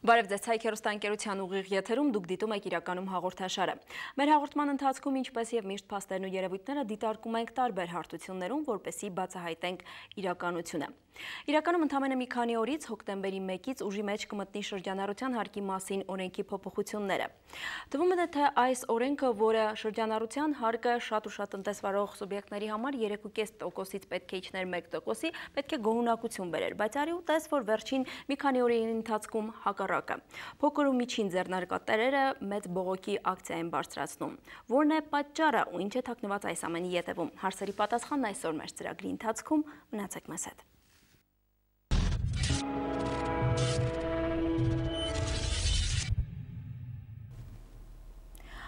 Բարև ձեզ, Հայք հեռուստաընկերության ուղիղ եթերում դուք դիտում եք իրականում հաղորդաշարը։ Մեր հաղորդման ընթացքում ինչպես եւ միշտ փաստերն ու երևույթները դիտարկում ենք տարբեր հարթություններում, որպեսզի բացահայտենք իրականությունը։ Իրականում ընդամենը մի քանի օրից հոկտեմբերի 1-ից ուժի մեջ կմտնի շրջանառության հարկի մասին օրենքի փոփոխությունները։ Թվում է, թե այս օրենքը, որը շրջանառության հարկը շատ ու շատ տնտեսվարող սուբյեկտների համար 3.5%-ից պետք է իջներ 1%-ի, պետք է գոհունակություն բերեր, բայց արի ու տես, որ վերջին մի քանի օրերի ընթացքում հակառակը։ Փոքր ու միջին ձեռնարկատերերը մեծ բողոքի ակցիա են բարձրացնում։ Որն է պատճառը ու ինչ է թաքնված այս ամենի ետևում։ Հարցերի պատասխանն այսօր մեր ծրագրի ընթացքում, մնացեք մեզ հետ։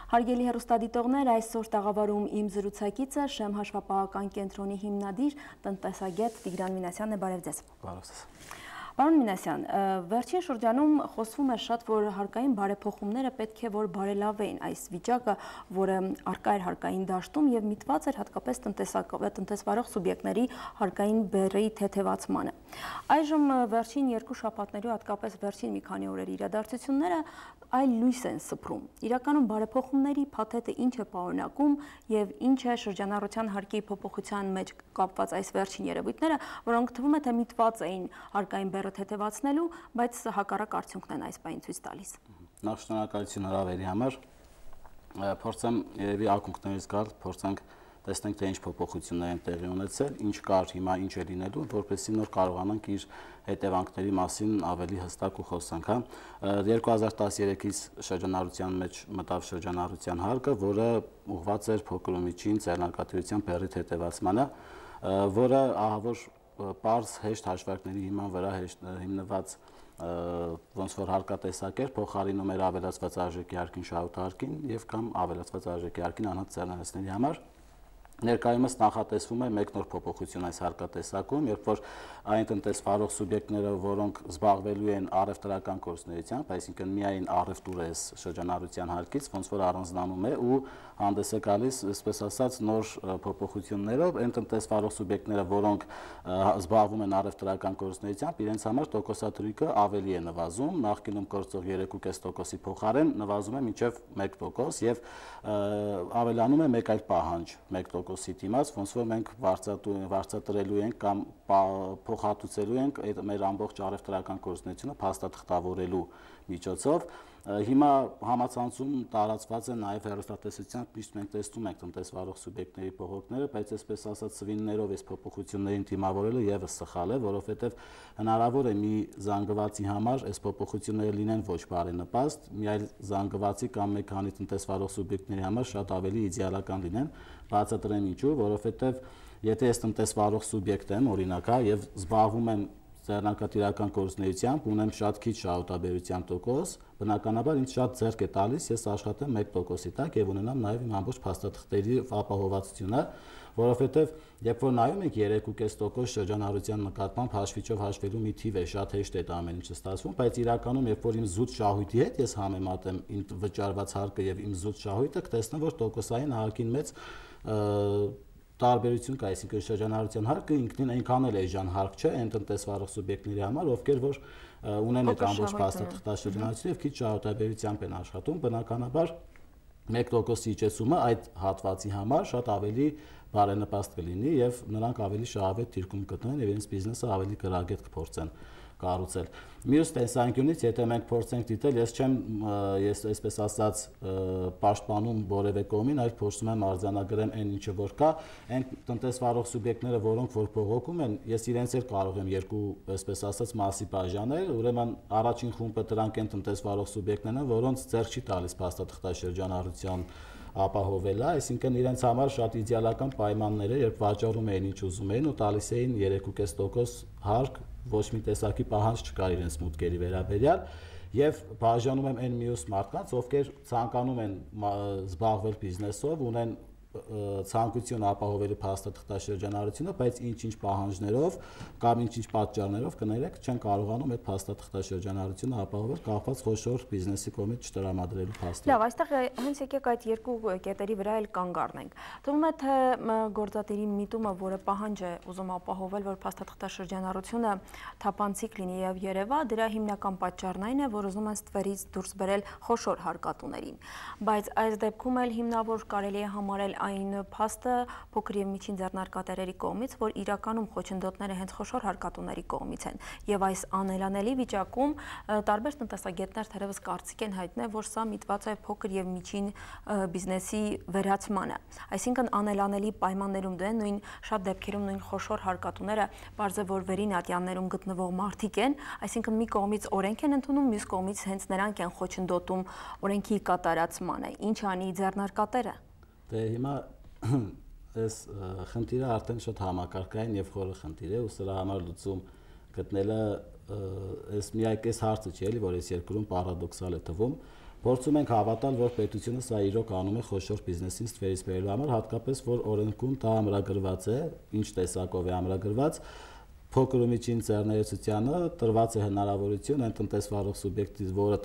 Հարգելի հեռուստադիտողներ, այսօր տաղավարում իմ զրուցակիցը Շեմ հաշվապահական կենտրոնի հիմնադիր տնտեսագետ Տիգրան Մինասյանն է, բարև ձեզ։ Բարև ձեզ։ Պարոն Մինասյան, վերջին շրջանում խոսվում է շատ, որ հարկային բարեփոխումները պետք է որ բարելավեին այս վիճակը, որը առկա էր հարկային դաշտում եւ միտված էր հատկապես տնտեսվարող սուբյեկտների հարկային բեռի թեթևացմանը։ Այժմ վերջին երկու շաբաթների, հատկապես վերջին մի քանի օրերի իրադարձությունները այլ լույս են սփռում։ Իրականում բարեփոխումների փաթեթը ինչ է պարունակում եւ ինչ է շրջանառության հարկի փոփոխության մեջ կապված այս վերջին երևույթները, որոնք թվում է թե միտված էին հարկային բեռը թեթևացնելու, բայց հակառակ արդյունքն են այս պահին ցույց տալիս։ Նախ շնորհակալություն հրավերի համար։ Փորձեմ երևի ակունքներից գալ, փորձենք տեսնենք թե ինչ փոփոխություններ են տեղի ունեցել, ինչ կար, հիմա ինչ է լինելու, որպեսզի նոր կարողանանք իր հետևանքների մասին ավելի հստակ ու խոսանք, հա։ 2013-ից շրջանառության մեջ մտավ շրջանառության հարկը, որը ուղղված էր փոքր ու միջին ձեռնարկատիրության բեռի թեթևացմանը, որը ահավոր պարզ հեշտ հաշվարկների հիման վրա հիմնված ոնց որ հարկատեսակ էր, փոխարինում էր ավելացված արժեքի հարկին շահութարկին եւ կամ ավելացված արժեքի հարկին անհատ ձեռնարկատերերի համար։ Ներկայումս նախատեսվում է մեկ նոր փոփոխություն այս հարկատեսակում, երբ որ այն տնտեսվարող սուբյեկտները, որոնք զբաղվելու են առևտրական գործունեությամբ, այսինքն միայն առևտուր է շրջանառության հարկից, ոնց որ առանձնանում է ու հանդես է գալիս, այսպես ասած, նոր փոփոխություններով, այն տնտեսվարող սուբյեկտները, որոնք զբաղվում են առևտրական գործունեությամբ, իրենց համար տոկոսադրույքը ավելի է նվազում, նախկինում գործող 3.5%-ի փոխարեն նվազում է մինչև 1% եւ ավելանում է մեկ այլ պահանջ 1%-ի դիմաց, ոնց որ մենք վարձատրելու ենք կամ փոխհատուցելու ենք մեր ամբողջ առևտրական գործունեությունը փաստաթղթավորելու միջոցով։ Հիմա համացանցում տարածված է նաև հեռուստատեսությամբ միշտ մենք տեսնում ենք տնտեսվարող սուբյեկտների բողոքները, բայց այսպես ասած սվիններով այս փոփոխություններին դիմավորելը եւս սխալ է, որովհետեւ հնարավոր է մի զանգվածի համար այս փոփոխությունները լինեն ոչ բարենպաստ, մի այլ զանգվածի կամ մեկ քանի տնտեսվարող սուբյեկտների համար շատ ավելի իդեալական լինեն, բացատրեմ ինչու, որովհետեւ եթե ես տնտեսվարող սուբյեկտ եմ, օրինակ, եւ զբաղվում եմ ձեռնարկատիրական գործունեությամբ, ունեմ շատ քիչ շահութաբերության տոկոս, բնականաբար ինձ շատ ձեռք է տալիս, ես աշխատեմ 1%-ի տակ եւ ունենամ նաեւ իմ ամբողջ փաստաթղթերի ապահովվածությունը, որովհետեւ երբ որ նայում եք 3.5% շրջանառության նկատմամբ հաշվիչով հաշվելու մի թիվ է, շատ հեշտ է դա ամեն ինչը ստացվում, բայց իրականում երբ որ իմ զուտ շահույթի հետ ես համեմատեմ իմ վճարված հարկը եւ իմ զուտ շահույթը, կտեսնեմ, որ տոկոսային հարկին մեծ տարբերություն կա, այսինքն շրջանառության հարկը ինքնին այնքան էլ էժան հարկ չէ այն տնտեսվարող սուբյեկտների համար, ովքեր որ ունեն այդ ամբողջ փաստաթղթաշրջանառությունը եւ քիչ շահութաբերությամբ են աշխատում, բնականաբար 1%-ի իջեցումը այդ հատվածի համար շատ ավելի բարենպաստ կլինի եւ նրանք ավելի շահավետ դիրքում կտնեն եւ իրենց բիզնեսը ավելի գրագետ կփորձեն կառուցել։ Մյուս տեսանկյունից, եթե մենք փորձենք դիտել, ես այսպես ասած պաշտպանում որևէ կողմին, այլ փորձում եմ արձանագրեմ այն ինչը որ կա, այն տնտեսվարող սուբյեկտները, որոնք որ բողոքում են, ես իրենց էլ կարող եմ երկու, այսպես ասած, մասի բաժանել, ուրեմն առաջին խումբը դրանք են տնտեսվարող սուբյեկտներն են, որոնց ձեռք չի տալիս փաստաթղթաշրջանառության ապահովելը, այսինքն իրենց համար շատ իդեալական պայմաններ է, երբ վաճառում էին ինչ ուզում էին ու տալիս էին 3.5% հարկ, ոչ մի տեսակի պահանջ չկար իրենց մուտքերի վերաբերյալ եւ բաժանում եմ այն մյուս մարդկանց, ովքեր ցանկանում են զբաղվել բիզնեսով, ունեն ցանկություն ապահովելու փաստաթղթաշրջանառությունը, բայց ինչ-ինչ պահանջներով կամ ինչ-ինչ պատճառներով կներեք չեն կարողանում այդ փաստաթղթաշրջանառությունը ապահովել կախված խոշոր բիզնեսի կողմից չտրամադրելու փաստով։ Լավ, այստեղ հենց եկեք այդ երկու կետերի վրա էլ կանգ առնենք։ Թվում է թե գործադիրի միտումը, որը պահանջ է ուզում ապահովել, որ փաստաթղթաշրջանառությունը թափանցիկ լինի եւ երևա, դրա հիմնական պատճառն այն է, որ ուզում են ստվերից դուրս բերել խոշոր հարկատուներին։ Բայց այս դեպքում էլ հիմնավոր կարելի է համարել այն փաստը փոքր եւ միջին ձեռնարկատերերի կողմից, որ իրականում խոչընդոտները հենց խոշոր հարկատուների կողմից են։ Եվ այս անելանելի վիճակում տարբեր տնտեսագետներ թերևս կարծիք են հայտնել, որ սա միտված է փոքր եւ միջին բիզնեսի վերացմանը։ Այսինքն անելանելի պայմաններում դեն նույն շատ դեպքերում նույն խոշոր հարկատուները բարձր որ վերին ատյաններում գտնվող մարդիկ են, այսինքն մի կողմից օրենք են ընդունում, մյուս կողմից հենց նրանք են խոչընդոտում օրենքի կատարածմանը։ Ինչ անի ձեռնարկատերը։ Դե հիմա այս խնդիրը արդեն շատ համակարգային եւ խորը խնդիր է, ու սրա համար լուծում գտնելը այս միակ այս հարցը չի էլի, որ այս երկրում պարադոքսալ է թվում։ Փորձում ենք հավատալ, որ պետությունը սա իրոք անում է խոշոր բիզնեսին ստվերից բերելու համար, հատկապես որ օրենքում դա ամրագրված է, ինչ տեսակով է ամրագրված, փոքր ու միջին ձեռներեցությանը տրված է հնարավորություն այն տնտեսվարող սուբյեկտից, որը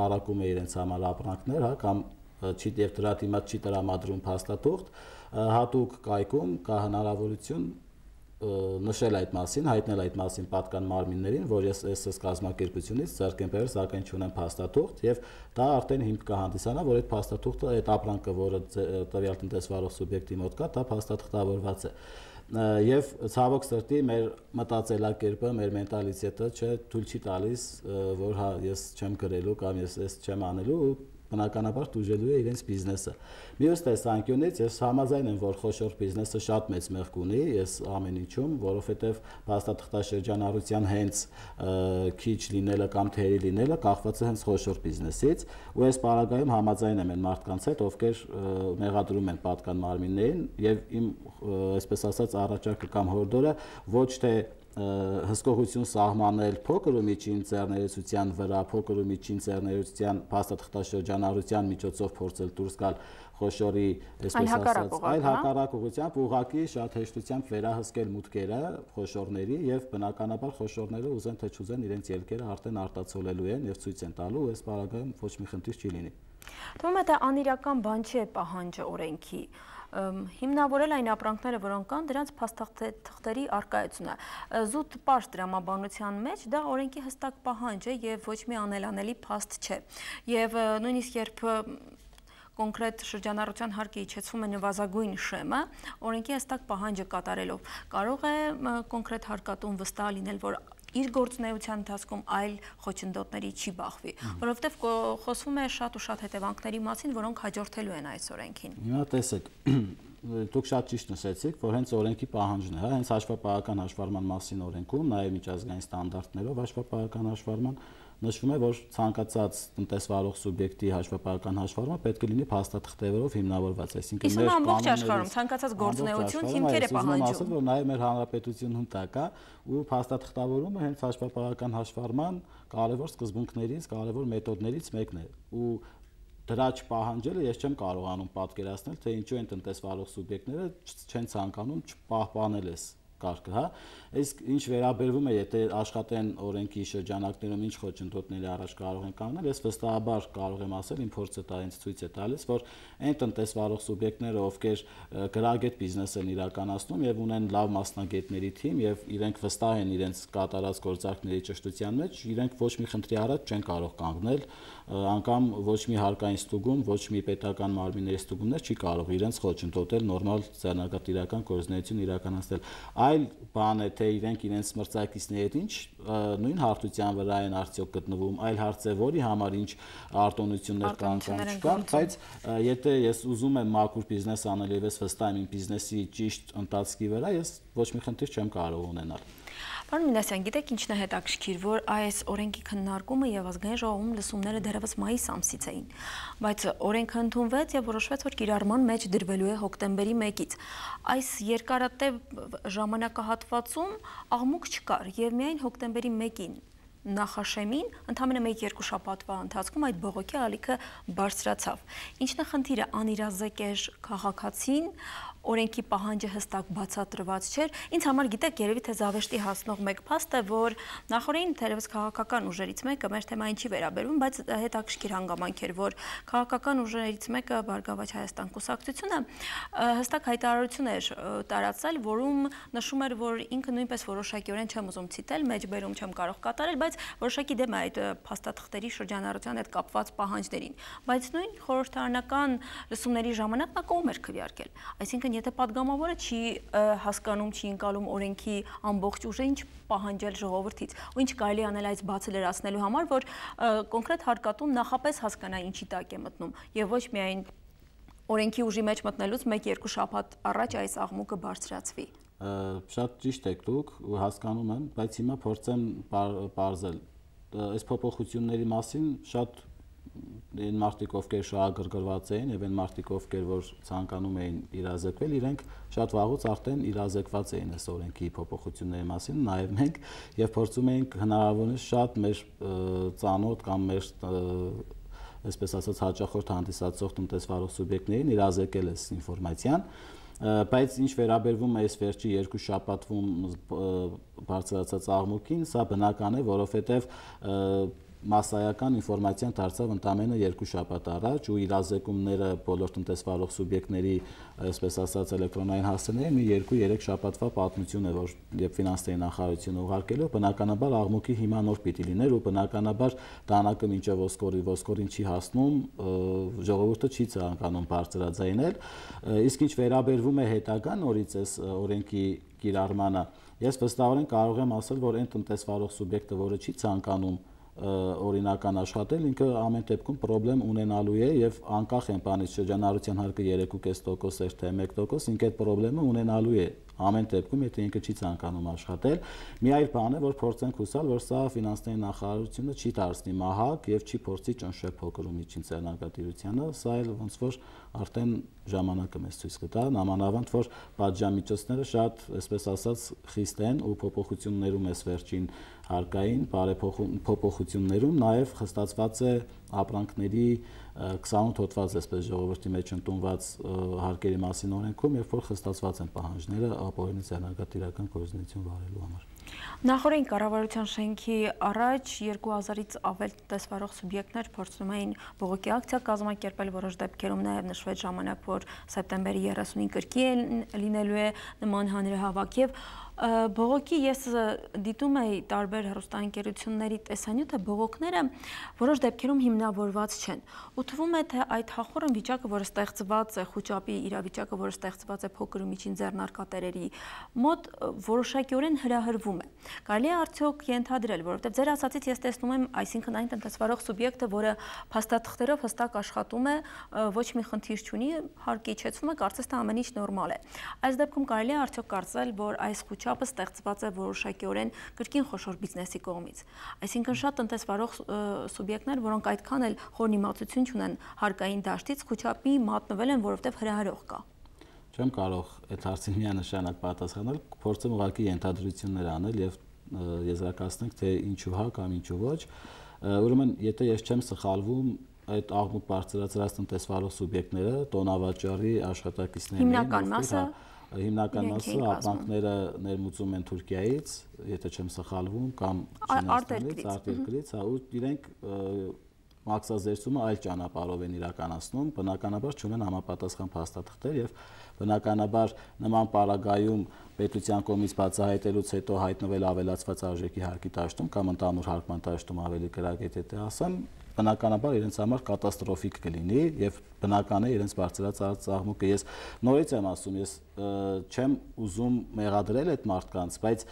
արակում է իրենց համար ապրանքներ, հա, կամ չի եւ դրա դիմաց չի տրամադրում փաստաթուղթ, հատուկ կայքում կա հնարավորություն նշել այդ մասին, հայտնել այդ մասին պատկան մարմիններին, որ ես SS կազմակերպությունից ձեռք եմ բերել, սակայն չունեմ փաստաթուղթ, եւ դա արդեն հիմք կհանդիսանա, որ այդ փաստաթուղթը, այդ ապրանքը, որը տվյալ տնտեսվարող սուբյեկտի մոտ կա, դա փաստաթղթավորված է։ Եվ ցավոք սրտի մեր մտածելակերպը, մեր մենտալիտետը թույլ չի տալիս, որ հա ես չեմ գրելու կամ ես չեմ անելու, բնականաբար դուժելու է իրենց բիզնեսը։ Մյուս տեսանկյունից ես համաձայն եմ, որ խոշոր բիզնեսը շատ մեծ մեղք ունի, ես ամեն ինչում, որովհետև փաստաթղթաշրջանառության հենց քիչ լինելը կամ թերի լինելը կախված է հենց խոշոր բիզնեսից, ու այս պարագայում համաձայն եմ այն մարդկանց հետ, ովքեր մեղադրում են պատկան մարմիններին, եւ իմ այսպես ասած առաջարկը կամ հորդորը ոչ թե հսկողություն սահմանել փոքր ու միջին ձեռներեցության վրա, փոքր ու միջին ձեռներեցության փաստաթղթաշրջանառության միջոցով փորձել դուրս գալ խոշորի, այսպես ասած, այլ հակառակ ուղղությամբ ուղղակի շատ հեշտությամբ վերահսկել մուտքերը խոշորների եւ բնականաբար խոշորները ուզեն թե չուզեն իրենց ելքերը արդեն արտացոլելու են եւ ցույց են տալու, այս պարագայում ոչ մի խնդիր չի լինի։ Թվում է թե անիրական բան չի պահանջը օրենքի։ Հիմնավորել այն ապրանքները, որոնք կան, դրանց փաստաթղթերի առկայությունը։ Զուտ պարզ դրամաբանության մեջ դա օրենքի հստակ պահանջ է եւ ոչ մի անելանելի փաստ չէ։ Եվ նույնիսկ երբ կոնկրետ շրջանառության հարկը իջեցվում է նվազագույն շեմը, օրենքի հստակ պահանջը կատարելով կարող է կոնկրետ հարկատուն վստահ լինել, որ իր գործունեության ընթացքում այլ խոչընդոտների չի բախվի, որովհետև խոսվում է շատ ու շատ հետևանքների մասին, որոնք հաջորդելու են այս օրենքին։ Հիմա տեսեք, դուք շատ ճիշտ նշեցիք, որ հենց օրենքի պահանջն է, հա, հենց հաշվապահական հաշվառման մասին օրենքում, նաև միջազգային ստանդարտներով հաշվապահական հաշվառման նշվում է, որ ցանկացած տնտեսվարող սուբյեկտի հաշվապահական հաշվառումը պետք է լինի փաստաթղթերով հիմնավորված, այսինքն մեր ամբողջ աշխարհում ցանկացած գործունեություն հիմքեր է պահանջում։ Ասել, որ նաև մեր հանրապետությունում դա կա, ու փաստաթղթավորումը հենց հաշվապահական հաշվառման կարևոր սկզբունքներից, կարևոր մեթոդներից մեկն է, ու դրա չպահանջելը ես չեմ կարողանում պատկերացնել, թե ինչու են տնտեսվարող սուբյեկտները չեն ցանկանում չպահպանել այս կարգը, հա, իսկ ինչ վերաբերվում է, եթե աշխատեն օրենքի շրջանակներում ինչ խոչընդոտների առաջ կարող են կանգնել, ես վստահաբար կարող եմ ասել, իմ փորձը դա ինձ ցույց է տալիս, որ այն տնտեսվարող սուբյեկտները, ովքեր գրագետ բիզնես են իրականացնում եւ ունեն լավ մասնագետների թիմ եւ իրենք վստահ են իրենց կատարած գործարքների ճշտության մեջ, իրենք ոչ մի խնդրի առաջ չեն կարող կանգնել, անգամ ոչ մի հարկային ստուգում, ոչ մի պետական մարմինների ստուգումներ չի կարող իրենց խոչընդոտել նորմալ ձեռնարկատիրական գործունեություն իրականացնել։ Այլ բան է, թե իրենք իրենց մրցակիցների հետ ինչ նույն հարթության վրա են արդյոք գտնվում, այլ հարց է, որի համար ինչ արտոնություններ կան կամ չկա, բայց եթե ես ուզում եմ մաքուր բիզնես անել եւ ես վստահ եմ իմ բիզնեսի ճիշտ ընթացքի վրա, ես ոչ մի խնդիր չեմ կարող ունենալ։ Պարոն Մինասյան, գիտեք ինչն է հետաքրքիր, որ այս օրենքի քննարկումը եւ ազգային ժողովում լսումները դեռևս մայիս ամսից էին, բայց օրենքը ընդունվեց եւ որոշվեց, որ կիրառման մեջ դրվելու է հոկտեմբերի 1-ից։ Այս երկարատև ժամանակահատվածում աղմուկ չկար եւ միայն հոկտեմբերի 1-ին նախաշեմին ընդամենը 1-2 շաբաթվա ընթացքում այդ բողոքի ալիքը բարձրացավ։ Ինչն է խնդիրը, անիրազեկ էր քաղաքացին, օրենքի պահանջը հստակ բացատրված չէր։ Ինձ համար գիտեք, երևի թե զավեշտի հասնող մեկ փաստ է, որ նախորդին թերևս քաղաքական ուժերից մեկը մեր թեմային չի վերաբերվում, բայց հետաքրքիր հանգամանք էր, որ քաղաքական ուժերից մեկը Բարգավաճ Հայաստան կուսակցությունը հստակ հայտարարություն էր տարածել, որում նշում էր, որ ինքը նույնպես որոշակիորեն չեմ ուզում ցիտել, մեջբերում չեմ կարող կատարել, բայց որոշակի դեմ է այդ փաստաթղթերի շրջանառության հետ կապված պահանջներին։ Բայց նույն խորհրդարանական լսումների ժամանակ նա կողմ էր քվեարկել։ Այսինքն, եթե падգամավորը չի հասկանում, չի ընկալում օրենքի ամբողջ ուժը, ինչ պահանջել ժողովրդից, ու ինչ կարելի անել այս բացը լրացնելու համար, որ կոնկրետ հարկատուն նախապես հասկանա ինչի տակ է մտնում, եւ ոչ միայն օրենքի ուժի մեջ մտնելուց 1-2 շաբաթ առաջ այս աղմուկը բարձրացվի։ Շատ ճիշտ եք դուք, հասկանում եմ, բայց հիմա փորձեմ պարզել։ Այս փոփոխությունների մասին շատ այն մարդիկ, ովքեր շահագրգռված էին, եւ այն մարդիկ, ովքեր որ ցանկանում էին իրազեկվել, իրենք շատ վաղուց արդեն իրազեկված էին այս օրենքի փոփոխությունների մասին, նաեւ մենք, եւ փորձում էինք հնարավորինս շատ մեր ծանոթ կամ մեր այսպես ասած հաճախորդ հանդիսացող տնտեսվարող սուբյեկտներին իրազեկել այս ինֆորմացիան, բայց ինչ վերաբերվում է այս վերջի 2 շաբաթվում բարձրացած աղմուկին, սա բնական է, որովհետեւ մասսայական ինֆորմացիան դարձավ ընդամենը 2 շաբաթ առաջ ու իրազեկումները բոլոր տնտեսվարող սուբյեկտների, այսպես ասած, էլեկտրոնային հասցեների մի 2-3 շաբաթվա պատմություն է, որ երբ ֆինանսների նախարարությունը ուղարկելով, բնականաբար աղմուկի հիմա նոր պիտի լիներ ու բնականաբար դանակը մինչև ոսկորին չի հասնում, ժողովուրդը չի ցանկանում բարձրաձայնել, իսկ ինչ վերաբերվում է հետագա նորից այս օրենքի կիրառմանը, ես վստահորեն կարող եմ ասել, որ այն տնտեսվարող սուբյեկտը, որը չի ցանկանում օրինական աշխատել, ինքը ամեն դեպքում խնդրեմ ունենալու է եւ անկախ են բանից շրջանառության հարկը 3.5% էր թե 1%, ինքը այդ խնդրեմը ունենալու է ամեն դեպքում, եթե ինքը չի ցանկանում աշխատել։ Մի այլ բան է, որ փորձենք հուսալ, որ սա ֆինանսների նախարարությունը չի դարձնի մահակ եւ չի փորձի ճնշել փոքր ու միջին ձեռնարկատիրությանը, սա էլ ոնց որ արդեն ժամանակը մեզ ցույց կտա, նամանավանդ որ պատժամիջոցները շատ, այսպես ասած, խիստ են ու փոփոխություններում էս վերջին հարկային փոփոխություններում նաև խստացված է ապրանքների 28 հոդված այսպես ժողովրդի մեջ ընդունված հարկերի մասին օրենքում, երբ որ խստացված են պահանջները ապօրինի ձեռնարկատիրական գործունեություն վարելու համար։ Նախորդին կառավարության շենքի առաջ 2000-ից ավել տնտեսվարող սուբյեկտներ փորձում էին բողոքի ակցիա կազմակերպել, որոշ դեպքերում նաև նշվեց ժամանակ, որ սեպտեմբերի 30-ին կրկի լինելու է նման հանրահավաք եւ բողոքի ես դիտում էի տարբեր հեռուստաընկերությունների տեսանյութը, բողոքները որոշ դեպքերում հիմնավորված չեն։ Ու թվում է, թե այդ հախուռն վիճակը, որը ստեղծված է, խոճապի իրավիճակը, որը ստեղծված է փոքր ու միջին ձեռնարկատերերի մոտ, որոշակիորեն հրահրվում է։ Կարելի է արդյոք ենթադրել, որովհետև ձեր ասածից ես տեսնում եմ, այսինքն այն տնտեսվարող սուբյեկտը, որը փաստաթղթերով հստակ աշխատում է, ոչ մի խնդիր չունի, հարկի իջեցվում է, կարծես թե ամեն ինչ նորմալ է։ Այս դեպքում կարելի է արդյոք կարծել, որ այս չափը ստեղծված է որոշակիորեն կրկին խոշոր բիզնեսի կողմից։ Այսինքն շատ տնտեսվարող սուբյեկտներ, որոնք այդքան էլ խոր իմացություն չունեն հարկային դաշտից, խոճապի մատնվել են, որովհետև հրահրող կա։ Չեմ կարող այդ հարցին միանշանակ պատասխանել, փորձեմ ուղղակի ենթադրություններ անել եւ եզրակացնենք, թե ինչու հա կամ ինչու ոչ։ Ուրեմն, եթե ես չեմ սխալվում, այդ աղմուկ բարձրացրած տնտեսվարող սուբյեկտները տոնավաճառի աշխատակիցներն են, հիմնական մասը ապրանքները ներմուծում են Թուրքիայից, եթե չեմ սխալվում, կամ Չինաստանից, արտերկրից, ու իրենք մաքսազերծումը այլ ճանապարհով են իրականացնում, բնականաբար չունեն համապատասխան փաստաթղթեր եւ բնականաբար նման պարագայում պետության կողմից բացահայտելուց հետո հայտնվել ավելացված արժեքի հարկի դաշտում կամ ընդհանուր հարկման դաշտում ավելի գրագետ եթե ասեմ, բնականաբար իրենց համար կատաստրոֆիկ կլինի եւ բնական է իրենց բարձրացած աղմուկը։ Ես նորից եմ ասում, ես չեմ ուզում մեղադրել այդ մարդկանց, բայց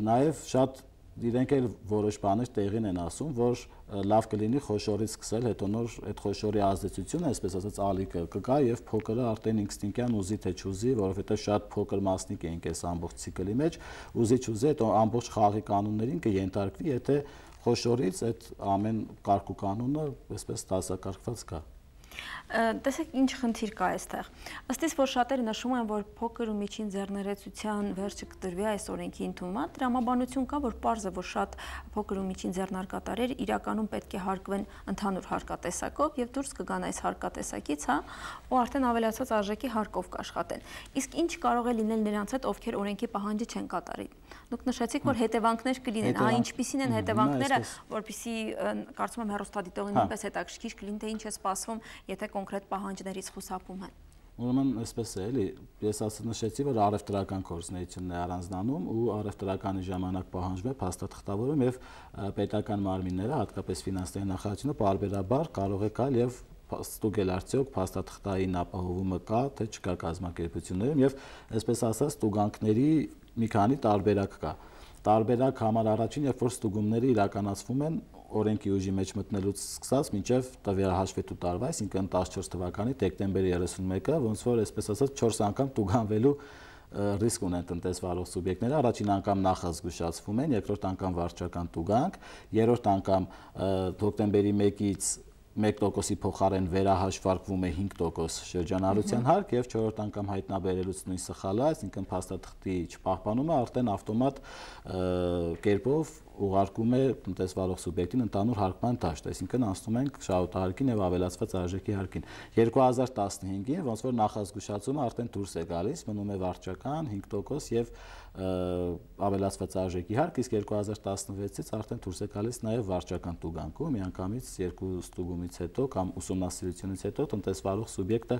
նաեւ շատ իրենք էլ որոշ բաներ տեղին են ասում, որ լավ կլինի խոշորից սկսել, հետո նոր այդ խոշորի ազդեցությունը, այսպես ասած, ալիքը կգա եւ փոքրը արդեն ինստինկտյան ուզի թե չուզի, որովհետեւ շատ փոքր մասնիկ ենք այս ամբողջ ցիկլի մեջ, ուզի չուզի, հետո ամբողջ խաղի կանոններին կենթարկվի, եթե խոշորից այդ ամեն կարգ ու կանոնը այսպես դասակարգված կա։ Տեսեք, ինչ խնդիր կա այստեղ։ Ըստ իս, որ շատերը նշում են, որ փոքր ու միջին ձեռներեցության վերջը կտրվի այս օրենքի ընդունման, տրամաբանություն կա, որ պարզ է, որ շատ փոքր ու միջին ձեռնարկատարեր իրականում պետք է հարկվեն ընդհանուր հարկատեսակով եւ դուրս կգան այս հարկատեսակից, ու արդեն ավելացած արժեքի հարկով կաշխատեն։ Իսկ ինչ կարող է լինել նրանց հետ, ովքեր օրենքի պահանջը չեն կատարի։ Դուք նշեցիք, որ հետևանքներ կլինեն, ինչպիսին են հետևանքները, որպեսզի կարծում եմ հեռուստադիտողին նույնպես հետաքրքիր կլինի, թե ինչ է սպասվում, եթե կոնկրետ պահանջներից խուսափում են։ Ուրեմն այսպես է, էլի, ես նշեցի, որ առևտրական գործունեությունն է առանձնանում ու առևտրականի ժամանակ պահանջվում է փաստաթղթավորում եւ պետական մարմինները, հատկապես ֆինանսների նախարարությունը պարբերաբար կարող է գալ եւ ստուգել արդյոք փաստաթղթային ապահովումը կա, թե չկա կազմակերպություններում եւ այսպես ասած ստուգանքների մի քանի տարբերակ կա։ Տարբերակ համար առաջին, երբ որ ստուգումները իրականացվում են օրենքի ուժի մեջ մտնելուց սկսած մինչև տվյալ հաշվետու տարվա, այսինքն 14 թվականի դեկտեմբերի 31-ը, ոնց որ այսպես ասած 4 անգամ տուգանվելու ռիսկ ունեն տնտեսվարող սուբյեկտները, առաջին անգամ նախազգուշացվում են, երկրորդ անգամ վարչական տուգանք, երրորդ անգամ հոկտեմբերի 1-ից 1%-ի փոխարեն վերահաշվարկվում է 5% շրջանառության հարկ եւ 4-րդ անգամ հայտնաբերելուց նույն սխալը, այսինքն փաստաթղթի չպահպանումը արդեն ավտոմատ կերպով ուղարկում է տնտեսվարող սուբյեկտին ընդհանուր հարկման դաշտ, այսինքն անցնում ենք շահութահարկին եւ ավելացված արժեքի հարկին։ 2015-ին ոնց որ նախազգուշացումը արդեն դուրս է գալիս, մնում է վարչական 5% եւ ավելացված արժեքի հարկ, իսկ 2016-ից արդեն դուրս է գալիս նաեւ վարչական տուգանքում, միանգամից երկու ստուգումից հետո կամ ուսումնասիրությունից հետո տնտեսվարող սուբյեկտը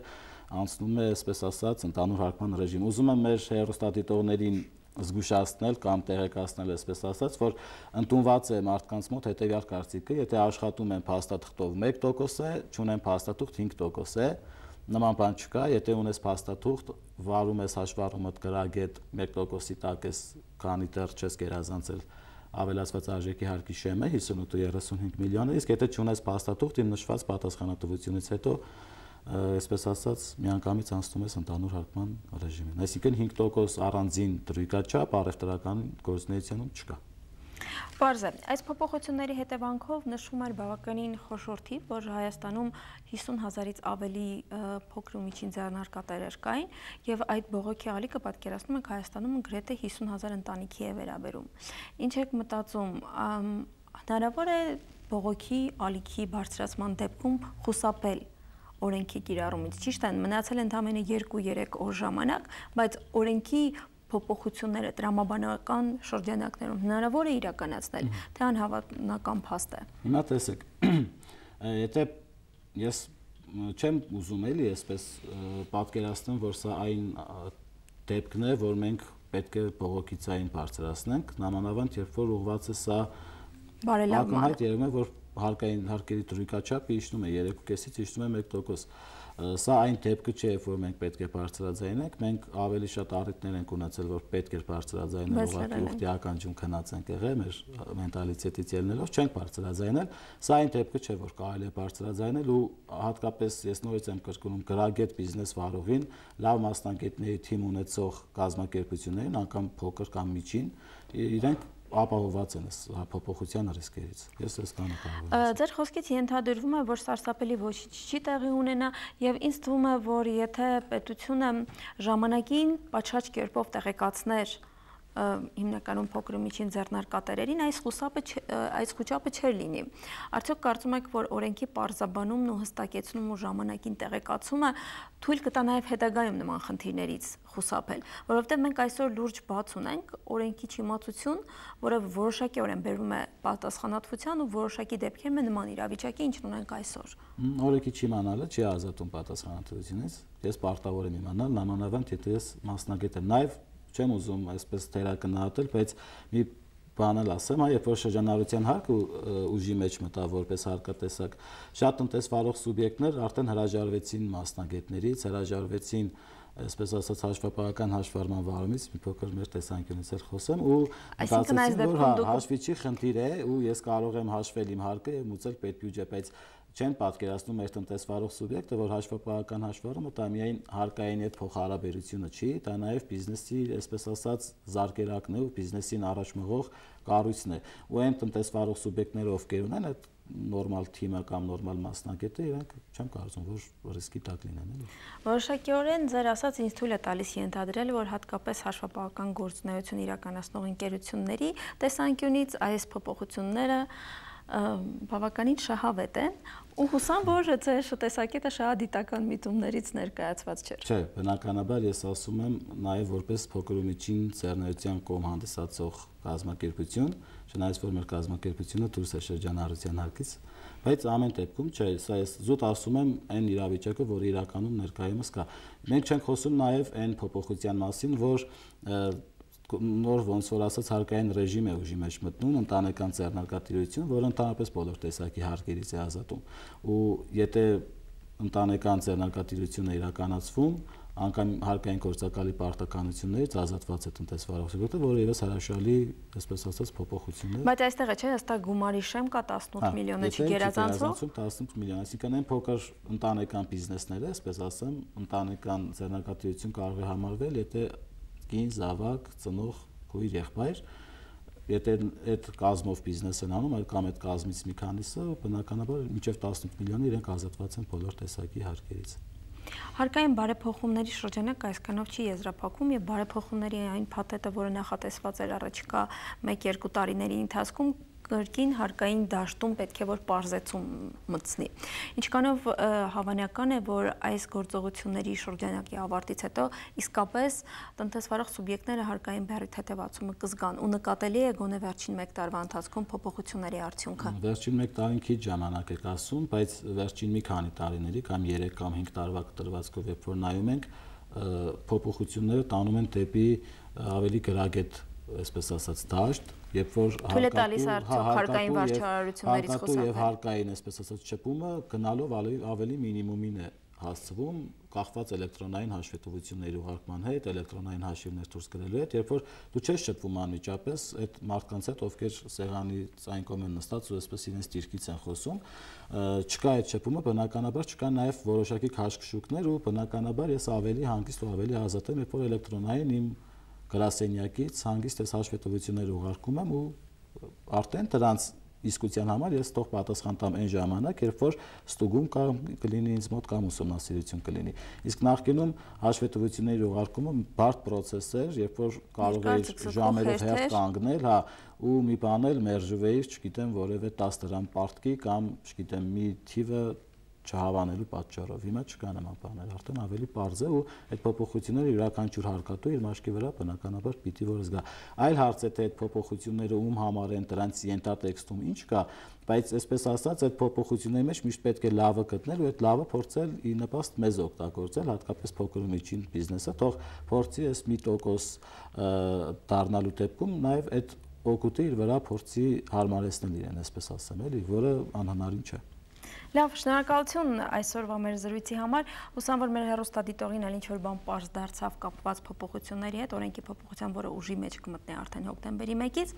անցնում է, այսպես ասած, ընդհանուր հարկման ռեժիմ։ Ուզում եմ մեր հեռուստադիտողներին զգուշացնել կամ տեղեկացնել, այսպես ասած, որ ընդունված է մարդկանց մոտ հետևյալ կարծիքը, եթե աշխատում են փաստաթղթով 1% է, չունեն փաստաթուղթ 5% է, նման բան չկա, եթե ունես փաստաթուղթ, վարում ես հաշվառումդ գրագետ 1%-ի տակ ես, քանի դեռ չես գերազանցել ավելացված արժեքի հարկի շեմը 58.35 միլիոնը, իսկ եթե չունես փաստաթուղթ, իմ նշված պատասխանատվությունից հետո այսպես ասած, միանգամից անցնում ես ընդհանուր հարկման ռեժիմին։ Այսինքն 5% առանձին դրույքաչափ առևտրական գործունեությունում չկա։ Պարզ է, այս փոփոխությունների հետևանքով նշվում էր բավականին խոշոր թիվ, որ Հայաստանում 50,000-ից ավելի փոքր ու միջին ձեռնարկատերեր կային, եւ այդ բողոքի ալիքը պատկերացնում եք Հայաստանում գրեթե 50,000 ընտանիքի է վերաբերում։ Ինչ եք մտածում, հնարավոր է բողոքի ալիքի բարձրացման դեպքում խուսափել օրենքի կիրառումից, ճիշտ է, մնացել ընդամենը 2-3 օր ժամանակ, բայց օրենքի փոփոխությունները տրամաբանական շրջանակներում հնարավոր է իրականացնել, թե անհավանական փաստ է։ Հիմա տեսեք, եթե ես չեմ ուզում էլի այսպես պատկերացնեմ, որ սա այն դեպքն է, որ մենք պետք է բողոքիցային բարձրացնենք, նամանավանդ երբ որ ուղղված է սա ակնհայտ երևում է, որ հարկային հարկերի դրույքաչափը իջնում է 3.5-ից իջնում է 1%։ Սա այն դեպքը չէ, որ մենք պետք է բարձրաձայնենք, մենք ավելի շատ առիթներ ենք ունեցել, որ պետք է բարձրաձայնել, ուղղակի ականջում քնած ենք եղել, մեր մենտալիտետից ելնելով չենք բարձրաձայնել։ Սա այն դեպքը չէ, որ կարելի է բարձրաձայնել ու հատկապես ես նորից եմ կրկնում գրագետ բիզնես վարողին, լավ մասնագետների թիմ ունեցող կազմակերպություններին, անգամ փոքր կամ միջին, իրենք ապահովված են փոփոխության ռիսկերից։ Ես այս կանը կարող։ Ձեր խոսքից ենթադրվում է, որ սարսափելի ոչինչ չի տեղի ունենա եւ ինձ թվում է, որ եթե պետությունը ժամանակին պատշաճ կերպով տեղեկացներ հիմնականում փոքր ու միջին ձեռնարկատերերին, այս խուճապը չէր լինի։ Արդյոք կարծում եք, որ օրենքի պարզաբանումն ու հստակեցումն ու ժամանակին տեղեկացումը թույլ կտա նաև հետագայում նման խնդիրներից խուսափել, որովհետև մենք այսօր լուրջ բաց ունենք օրենքի չիմացություն, որը որոշակիորեն բերում է պատասխանատվության ու որոշակի դեպքերում է նման իրավիճակի, ինչն ունենք այսօր։ Օրենքի չիմանալը չի ազատում պատասխանատվությունից։ Ես պարտավոր եմ իմանալ, նամանավանդ եթե ես մասնագետ եմ, նաև չեմ ուզում այսպես թերակնահատել, բայց մի բան էլ ասեմ, երբ որ շրջանառության հարկը ուժի մեջ մտավ որպես հարկատեսակ, շատ տնտեսվարող սուբյեկտներ արդեն հրաժարվեցին մասնագետներից, հրաժարվեցին, այսպես ասած, հաշվապահական հաշվառման վարումից, մի փոքր մեր տեսանկյունից էլ խոսեմ, ու մտածեցին, որ հաշվիչի խնդիր է ու ես կարող եմ հաշվել իմ հարկը եւ մուծել պետբյուջե, բայց չեն պատկերացնում մեր տնտեսվարող սուբյեկտը, որ հաշվապահական հաշվառումը դա միայն հարկային հետ փոխհարաբերությունը չի, դա նաև բիզնեսի, այսպես ասած, զարգերակն է ու բիզնեսին առաջ մղող կառույցն է։ Ու այն տնտեսվարող սուբյեկտները, ովքեր ունեն այդ նորմալ թիմը կամ նորմալ մասնակետը իրենք չեմ կարծում, որ ռիսկի տակ լինեն, էլի։ Որոշակիորեն ձեր ասած ինձ թույլ է տալիս ենթադրել, որ հատկապես հաշվապահական գործունեություն իրականացնող ընկերությունների տեսանկյունից այս փոփոխությունները բավականին շահավետ են ու հուսամ, որ ձեր տեսակետը շահադիտական միտումներից ներկայացված չէր։ Չէ, բնականաբար ես ասում եմ նաև որպես փոքր ու միջին ձեռնարկության կողմ հանդիսացող կազմակերպություն, չնայած որ մեր կազմակերպությունը դուրս է շրջանառության հարկից, բայց ամեն դեպքում չէ, սա ես զուտ ասում եմ այն իրավիճակը, որը իրականում ներկայումս կա։ Մենք չենք խոսում նաև այն փոփոխության մասին, որ նոր ոնց որ ասած հարկային ռեժիմ է ուժի մեջ մտնում, ընտանեկան ձեռնարկատիրություն, որը ընդհանրապես բոլոր տեսակի հարկերից է ազատում։ Ու եթե ընտանեկան ձեռնարկատիրությունը իրականացվում, անգամ հարկային գործակալի պարտականություններից ազատված է տնտեսվարող սուբյեկտը, որը ևս հրաշալի, այսպես ասած, փոփոխություն է։ Բայց այստեղ է, չէ, հստակ գումարի շեմ կա 18 միլիոնը չգերազանցող։ 18 միլիոն, այսինքն այն փոքր ընտանեկան բիզնեսները, այսպես ասեմ, ընտանեկան ձեռնարկատիրություն կարող է համարվել, եթե կին, զավակ, ծնող, քույր, եղբայր, եթե այդ կազմով բիզնես են անում, այլ կամ այդ կազմից մի քանիսը, բնականաբար մինչև 18 միլիոնը իրենք ազատված են բոլոր տեսակի հարկերից։ Հարկային բարեփոխումների շրջանակը այսքանով չի եզրափակում եւ բարեփոխումների այն փաթեթը, որը նախատեսված էր առաջիկա 1-2 տարիների ընթացքում, կրկին հարկային դաշտում պետք է որ պարզեցում մտցնի։ Ինչքանով հավանական է, որ այս գործողությունների շրջանակի ավարտից հետո իսկապես տնտեսվարող սուբյեկտները հարկային բեռի թեթևացումը կզգան ու նկատելի է գոնե վերջին 1 տարվա ընթացքում փոփոխությունների արդյունքը։ Վերջին 1 տարին քիչ ժամանակ է ասում, բայց վերջին մի քանի տարիների կամ 3 կամ 5 տարվա կտրվածքով երբ որ նայում ենք, փոփոխությունները տանում են դեպի ավելի գրագետ, այսպես ասած, դաշտ, երբ որ հարկային վարչարարություններից խոսքը եւ հարկային, այսպես ասած, չփումը գնալով ավելի մինիմումին է հասցվում, կախված էլեկտրոնային հաշվետվությունների ուղարկման հետ, էլեկտրոնային հաշիվներ դուրս գրելու հետ, երբ որ դու չես շփվում անմիջապես այդ մարդկանց հետ, ովքեր սեղանից այն կողմ են նստած ու այսպես իրենց դիրքից են խոսում, չկա այդ շփումը, բնականաբար չկա նաեւ որոշակի քաշքշուկներ ու բնականաբար ես ավելի հանգիստ ու ավելի ազատ եմ, երբ որ էլեկտրոնային իմ գրասենյակից հանգիստ այս հաշվետվությունները ուղարկում եմ ու արդեն դրանց իսկության համար ես թող պատասխան տամ այն ժամանակ, երբ որ ստուգում կլինի ինձ մոտ կամ ուսումնասիրություն կլինի։ Իսկ նախկինում հաշվետվությունների ուղարկումը բարդ process էր, երբ որ կարող էիր ժամերով հերթ կանգնել, հա, ու մի բան էլ մերժվեիր, չգիտեմ, որևէ 10 դրամ պարտքի կամ, չգիտեմ, մի թիվը չհավանելու պատճառով։ Հիմա չկա նման բաներ, արդեն ավելի պարզ է ու այդ փոփոխությունները յուրաքանչյուր հարկատու իր մաշկի վրա բնականաբար պիտի որ զգա։ Այլ հարց է թե այդ փոփոխությունները ում համար են, դրանց ենթատեքստում ինչ կա, բայց այսպես ասած այդ փոփոխությունների մեջ միշտ պետք է լավը գտնել ու այդ լավը փորձել ի նպաստ մեզ օգտագործել, հատկապես փոքր ու միջին բիզնեսը, թող փորձի այս 1% դառնալու դեպքում նաև այդ օգուտը իր վրա փորձի հարմարեցնել իրեն, այսպես ասեմ, էլի, որը անհնարին չէ։ Լավ, շնորհակալություն այսօրվա մեր զրույցի համար։ Հուսամ, որ մեր հեռուստադիտողին էլ ինչ-որ բան պարզ դարձավ կապված փոփոխությունների հետ, օրենքի փոփոխության, որը ուժի մեջ կմտնի արդեն հոկտեմբերի 1-ից։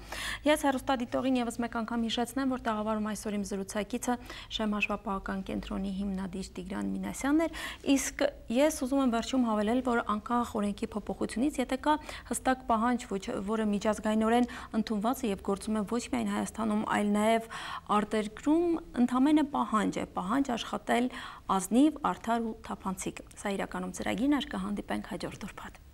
Ես հեռուստադիտողին եւս մեկ անգամ հիշեցնեմ, որ տաղավարում այսօր իմ զրուցակիցը Շեմ հաշվապահական կենտրոնի հիմնադիր Տիգրան Մինասյանն էր, իսկ ես ուզում եմ վերջում հավելել, որ անկախ օրենքի փոփոխությունից, եթե կա հստակ պահանջ, որը միջազգայինորեն ընդունված է եւ գործում է ոչ միայն Հայաստանում, այլ նաեւ արտերկրում, ընդհանրապես պահանջ աշխատել ազնիվ, արդար ու թափանցիկ։ Սա իրականում ծրագիրն է, կհանդիպենք հաջորդ ուրբաթ։